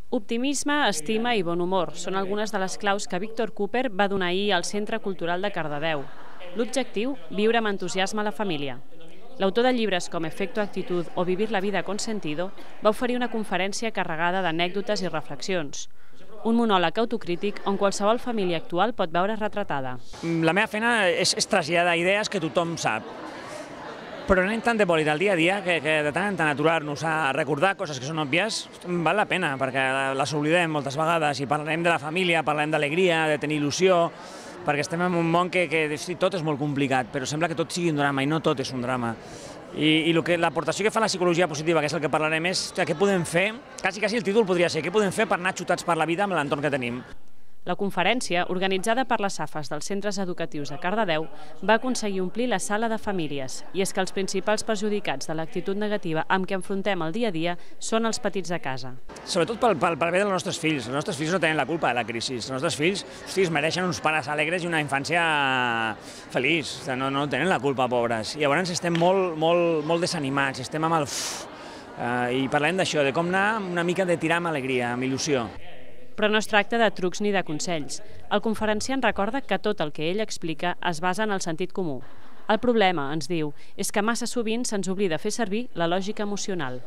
Optimisme, estima i bon humor són algunes de les claus que Víctor Cooper va donar ahir al Centre Cultural de Cardedeu. L'objectiu, viure amb entusiasme a la família. L'autor de llibres com Efecto Actitud o Vivir la vida con sentido va oferir una conferència carregada d'anècdotes i reflexions. Un monòleg autocrític on qualsevol família actual pot veure retratada. La meva feina és traslladar idees que tothom sap, però anem tan de bòlit al dia a dia que de tant en tant aturar-nos a recordar coses que són òbvies val la pena, perquè les oblidem moltes vegades i parlarem de la família, parlarem d'alegria, de tenir il·lusió, perquè estem en un món que tot és molt complicat, però sembla que tot sigui un drama i no tot és un drama. I l'aportació que fa la psicologia positiva, que és el que parlarem, és què podem fer, quasi el títol podria ser, què podem fer per anar xutats per la vida amb l'entorn que tenim. La conferència, organitzada per les AFAs dels centres educatius de Cardedeu, va aconseguir omplir la sala de famílies. I és que els principals perjudicats de l'actitud negativa amb què enfrontem el dia a dia són els petits de casa. Sobretot pel bé dels nostres fills. Els nostres fills no tenen la culpa de la crisi. Els nostres fills es mereixen uns pares alegres i una infància feliç. No tenen la culpa, pobres. I llavors estem molt desanimats, estem amb el... I parlem d'això, de com anar una mica de tirar amb alegria, amb il·lusió. Però no es tracta de trucs ni de consells. El conferenciant recorda que tot el que ell explica es basa en el sentit comú. El problema, ens diu, és que massa sovint se'ns oblida fer servir la lògica emocional.